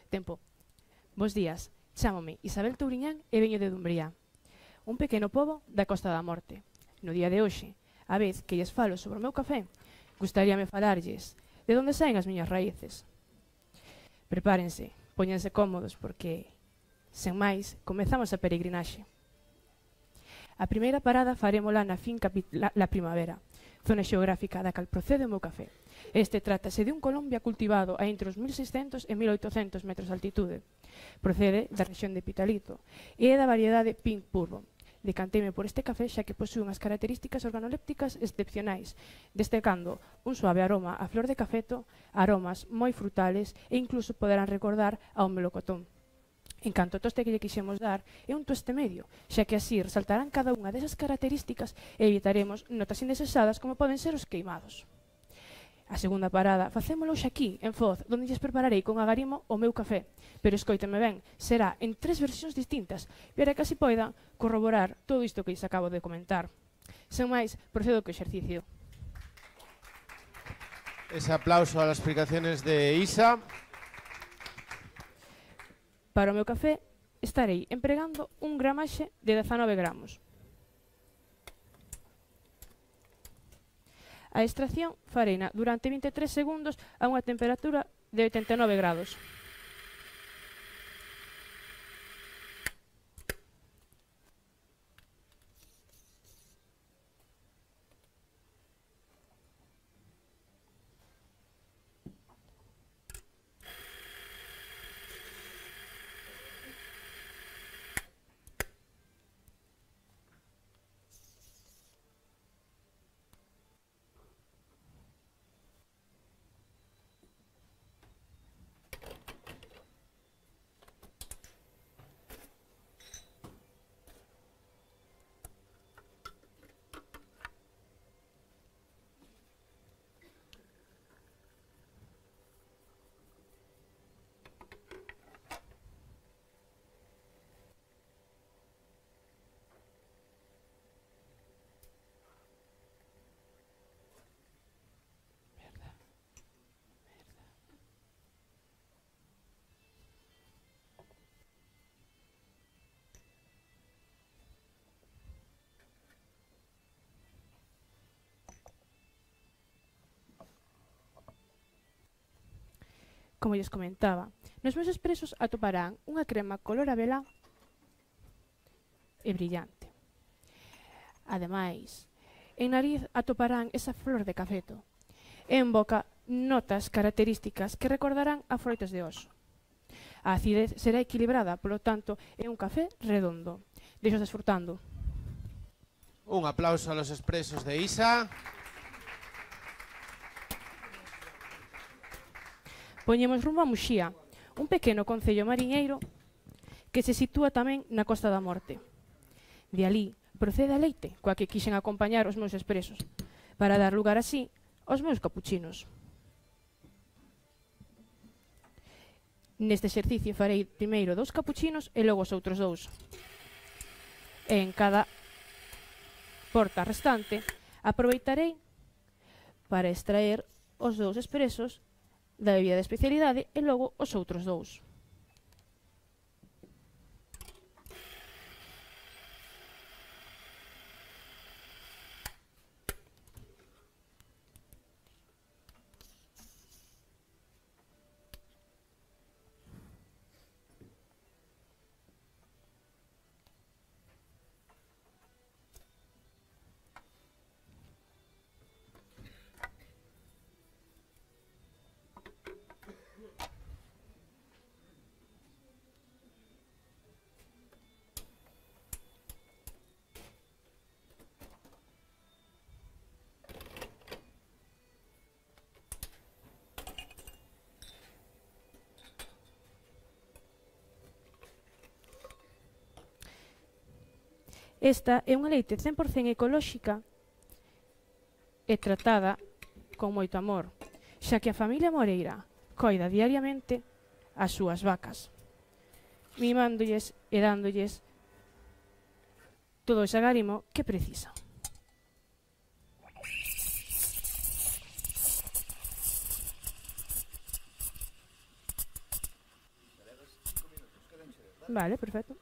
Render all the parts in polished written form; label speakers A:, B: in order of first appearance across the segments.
A: Tempo. Bos días, chámome Isabel Touriñán e veño de Dumbría, un pequeno pobo da Costa da Morte. No día de hoxe, a vez que lles falo sobre o meu café, gustaríame falarlles de onde saen as miñas raíces. Prepárense, póñanse cómodos porque, sen máis, comezamos a peregrinaxe. A primeira parada farémola na finca La Primavera, zona xeográfica da cal procede o meu café. Este trátase de un Colombia cultivado a entre os 1600 e 1800 metros de altitude. Procede da rexión de Pitalito e é da variedade Pink Bourbon. Decanteime por este café xa que posúe unhas características organolépticas excepcionais, destacando un suave aroma a flor de cafeto, aromas moi frutales e incluso poderán recordar ao melocotón. En canto ao toste que lle quixemos dar, é un toste medio, xa que así resaltarán cada unha desas características e evitaremos notas indesexadas como poden ser os queimados. A segunda parada facémolo hoxe aquí, en Foz, onde lles prepararei con agarimo o meu café. Pero escoíteme ben, será en 3 versións distintas, para que así poida corroborar todo isto que lles acabo de comentar. Sen máis, procedo co exercicio.
B: Ese aplauso a las explicaciones de Isa.
A: Para o meu café estarei empregando un gramaxe de 19 gramos. A extracción fareina durante 23 segundos a unha temperatura de 89 grados. Como lles comentaba, nos meus expresos atoparán unha crema color abelá e brillante. Ademais, en nariz atoparán esa flor de cafeto e en boca notas características que recordarán a froitas de oso. A acidez será equilibrada, polo tanto, é un café redondo. Deixo desfrutando.
B: Un aplauso a los expresos de Isa.
A: Poñemos rumbo a Muxía, un pequeno concello mariñeiro que se sitúa tamén na Costa da Morte. De alí procede a leite, coa que quixen acompañar os meus expresos, para dar lugar así aos meus capuchinos. Neste exercicio farei primeiro 2 capuchinos e logo os outros 2. E en cada porta restante aproveitarei para extraer os 2 expresos da bebida de especialidade e logo os outros 2. Esta é unha leite 100% ecolóxica e tratada con moito amor, xa que a familia Moreira coida diariamente as súas vacas, mimándolles e dándolles todo ese agarimo que precisa. Vale, perfecto.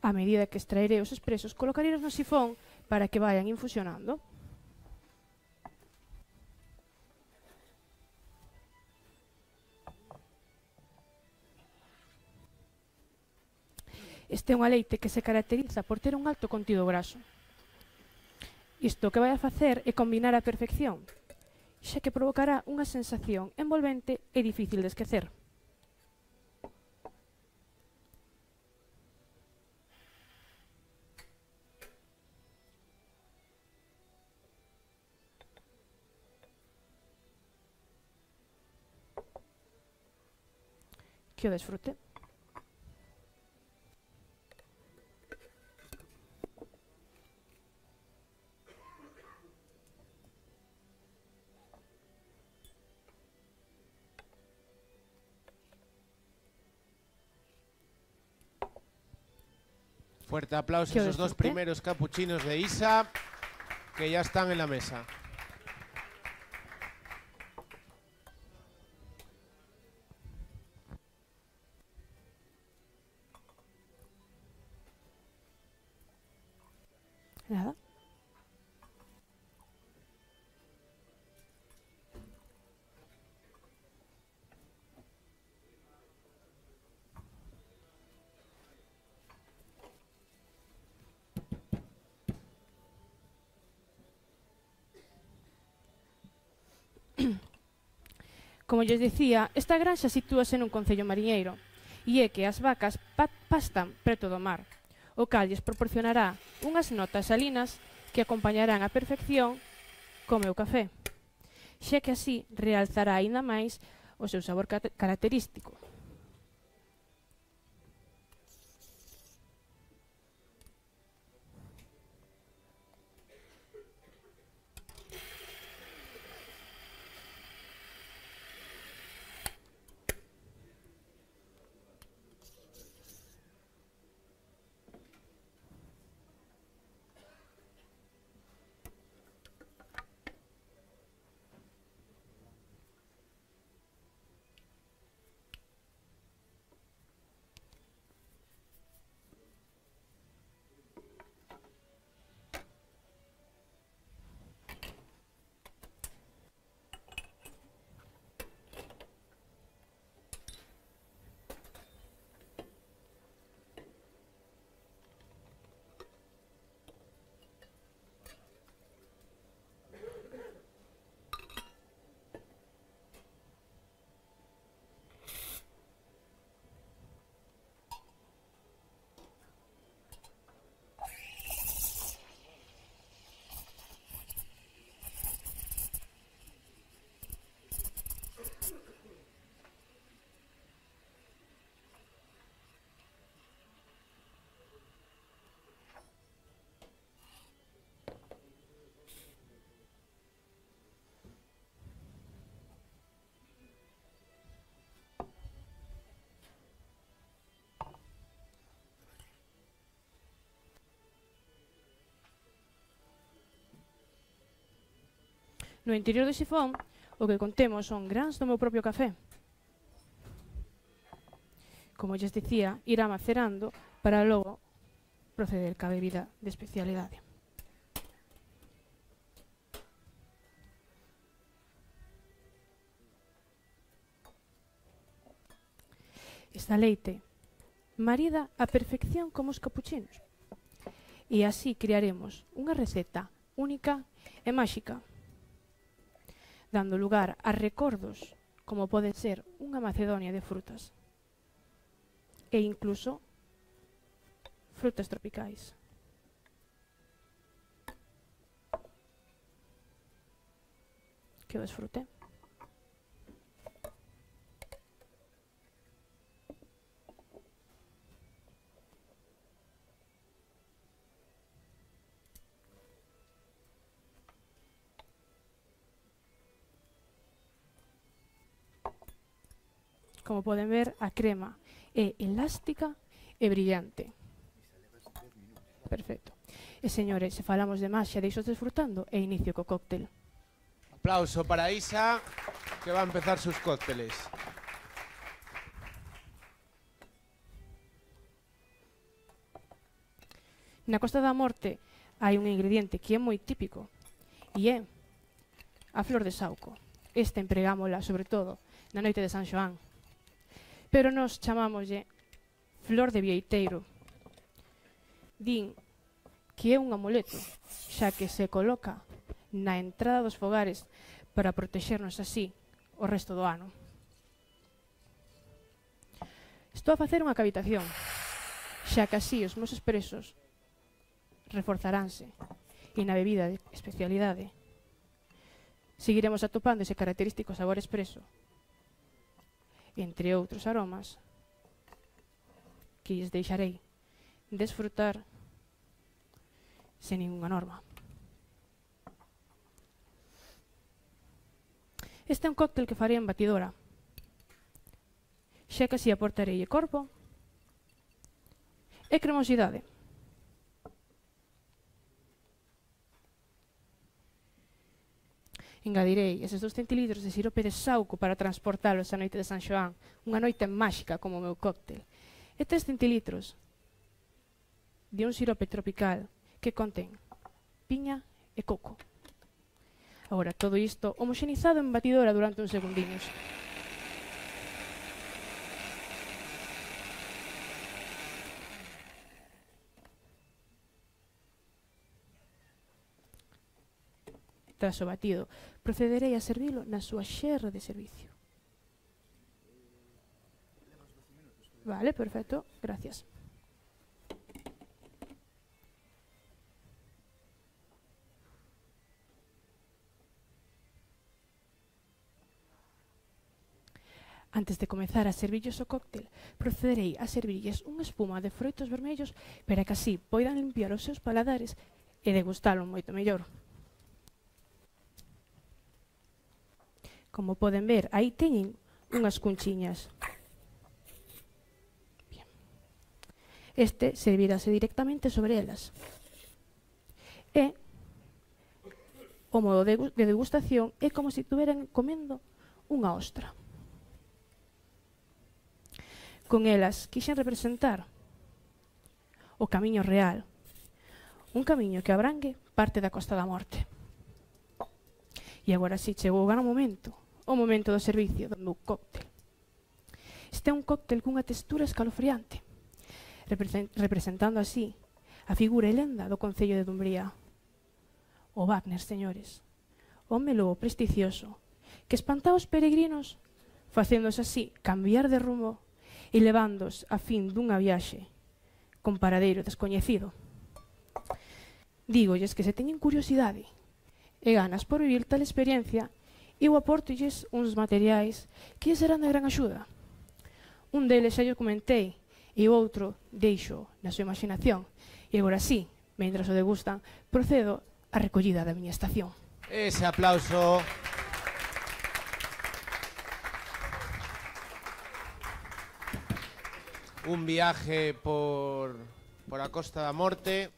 A: A medida que extraeré os expresos, colocarei no sifón para que vayan infusionando. Este é unha leite que se caracteriza por ter un alto contido graso. Isto o que vai a facer é combinar a perfección, xa que provocará unha sensación envolvente e difícil de esquecer. Que o desfrute.
B: Fuerte aplauso a esos dos primeros capuchinos de Isa, que ya están en la mesa.
A: Nada. Como lles dicía, esta granxa sitúase nun concello mariñeiro e é que as vacas pastan preto do mar, o cal lles proporcionará unhas notas salinas que acompañarán á perfección co meu café, xa que así realzará aínda máis o seu sabor característico. No interior do sifón, o que contemos son grans do meu propio café. Como lles dicía, irá macerando para logo proceder ca bebida de especialidade. Esta leite marida á perfección como os capuchinos. E así crearemos unha receta única e máxica, dando lugar a recordos como pode ser unha Macedonia de frutas e incluso frutas tropicais. Que o desfrute. Como poden ver, a crema é elástica e brillante. Perfecto. E, señores, se falamos de máis, xa deixos desfrutando e inicio co cóctel.
B: Aplauso para Isa, que va a empezar sus cócteles.
A: Na Costa da Morte hai un ingrediente que é moi típico e é a flor de sauco. Esta empregámola, sobre todo, na noite de San Xoán. Pero nos chamámoslle flor de vieiteiro. Din que é un amuleto, xa que se coloca na entrada dos fogares para protexernos así o resto do ano. Estou a facer unha cavitación, xa que así os meus expresos reforzaránse e na bebida de especialidade seguiremos atopando ese característico sabor expreso, entre outros aromas que lles deixarei desfrutar sen ninguna norma. Este é un cóctel que farei en batidora, xa que así aportarei corpo e cremosidade. Engadirei eses 2 centilitros de sirope de sauco para transportalos á noite de San Xoán, unha noite máxica como o meu cóctel, e 3 centilitros de un sirope tropical que contén piña e coco. Agora, todo isto homoxenizado en batidora durante uns segundiños. Tras o batido, procederei a servilo na súa xerra de servicio. Vale, perfecto, gracias. Antes de comezar a servirlles o cóctel, procederei a servirlles unha espuma de froitos vermellos para que así poidan limpiar os seus paladares e degustalo moito mellor. Como poden ver, aí teñen unhas cunchiñas. Bien. Este servirase directamente sobre elas. E o modo de degustación é como se estuveran comendo unha ostra. Con elas quixen representar o camiño real, un camiño que abrangue parte da Costa da Morte. E agora si chegou o gran momento, o momento do servicio do meu cóctel. Este é un cóctel cunha textura escalofriante, representando así a figura e lenda do Concello de Dumbría. O Wagner, señores, home lobo presticioso, que espantaba os peregrinos, facéndose así cambiar de rumbo e levándos a fin dunha viaxe con paradeiro descoñecido. Dígolles que se teñen curiosidade e ganas por vivir tal experiencia, eu aportolles uns materiais que serán de gran axuda. Un deles xa yo comentei e o outro deixo na súa imaginación. E agora sí, mentras o degustan, procedo á recollida da miña estación.
B: Ese aplauso. Un viaje por a Costa da Morte.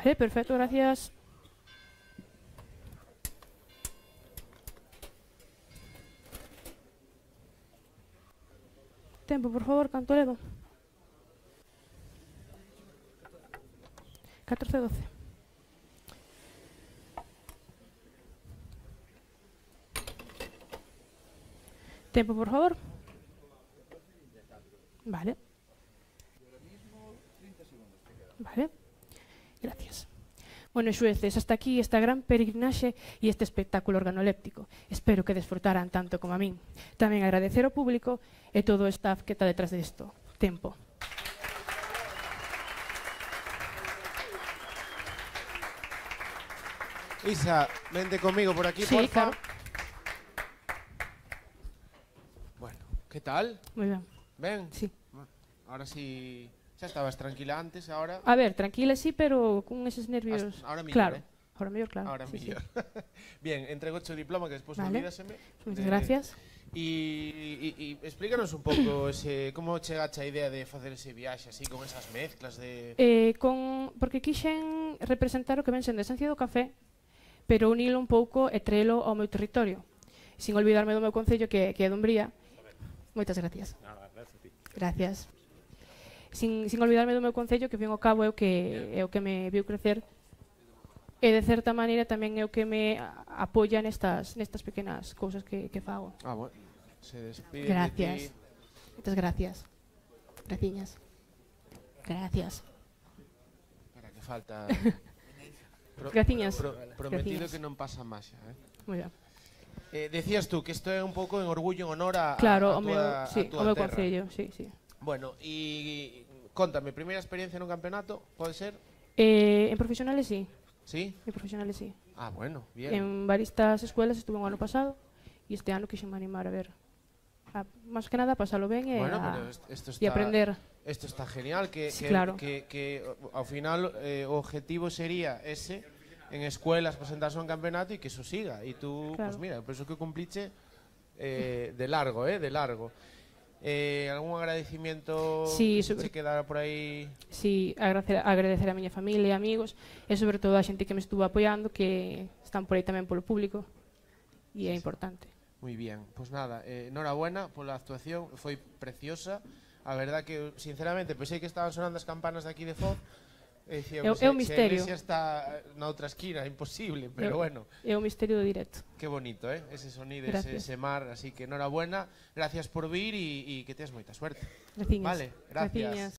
A: Vale, perfecto, gracias. Tempo, por favor, canto levo? 14:12. Tempo, por favor. Vale. Vale. Gracias. Bueno, xueces, hasta aquí esta gran peregrinaxe e este espectáculo organoléptico. Espero que desfrutaran tanto como a min. Tamén agradecer ao público e todo o staff que está detrás disto. Tempo.
B: Isa, vente conmigo por aquí,
A: Sí,
B: porfa.
A: claro.
B: Bueno, ¿qué tal?
A: Moi ben.
B: ¿Ven?
A: Sí.
B: Ahora sí... Ya estabas tranquila antes, ahora...
A: A ver, tranquila sí, pero con eses nervios...
B: Ahora millor,
A: claro. Ahora mellor, claro.
B: Ahora
A: sí,
B: mellor. Bien, entrego o diploma que despois
A: Vale.
B: olvídaseme.
A: Moitas gracias.
B: E explícanos un pouco como chegaste a idea de facer ese viaxe así con esas mezclas de...
A: Porque quixen representar o que ven sendo a esencia do café, pero unilo un pouco e trelo ao meu territorio, sin olvidarme do meu concello que é Dumbría. Moitas gracias.
B: Nada, gracias a ti.
A: Gracias. Sin olvidarme do meu concello, que, fin ao cabo, é o que me viu crecer, e de certa maneira tamén é o que me apoia nestas pequenas cousas que fago.
B: Bueno, se despide
A: Gracias.
B: de ti.
A: Moitas gracias. Graciñas. Gracias.
B: Espera, que falta...
A: Graciñas.
B: Prometido
A: Graciñas.
B: que non pasa máis,
A: Moi ben.
B: Decías tú que isto é un pouco en orgullo, en honor a
A: Claro,
B: a
A: o meu
B: túa terra.
A: concello, sí.
B: Bueno, e contame, primeira experiencia nun campeonato, pode ser?
A: En profesionales, sí.
B: Sí?
A: En profesionales, sí.
B: Bueno, bien.
A: En varias escuelas estuve o ano pasado e este ano quixen animar a ver. Más que nada, pasalo ben e aprender.
B: Esto está genial,
A: Sí, claro.
B: que ao final o objetivo sería ese, en escuelas presentarse a un campeonato e que eso siga. E tú,
A: Claro.
B: pues mira, penso que cumpliche de largo, de largo. Algún agradecimiento
A: Sí,
B: que se quedara por aí?
A: Sí, agradecer a miña familia e amigos e sobre todo a xente que me estuvo apoiando, que están por aí tamén polo público e é importante.
B: Moi bien, pois nada, enhorabuena pola actuación, foi preciosa. A verdad que, sinceramente, pensei que estaban sonando as campanas de aquí de Foz.
A: É un misterio.
B: Se a iglesia está na outra esquina, imposible, pero bueno.
A: É o misterio do directo.
B: Qué bonito, ese sonido, ese
A: Gracias.
B: mar, así que enhorabuena. Gracias por vir e que teas moita suerte.
A: Graciñas.
B: Vale, gracias.
A: Graciñas.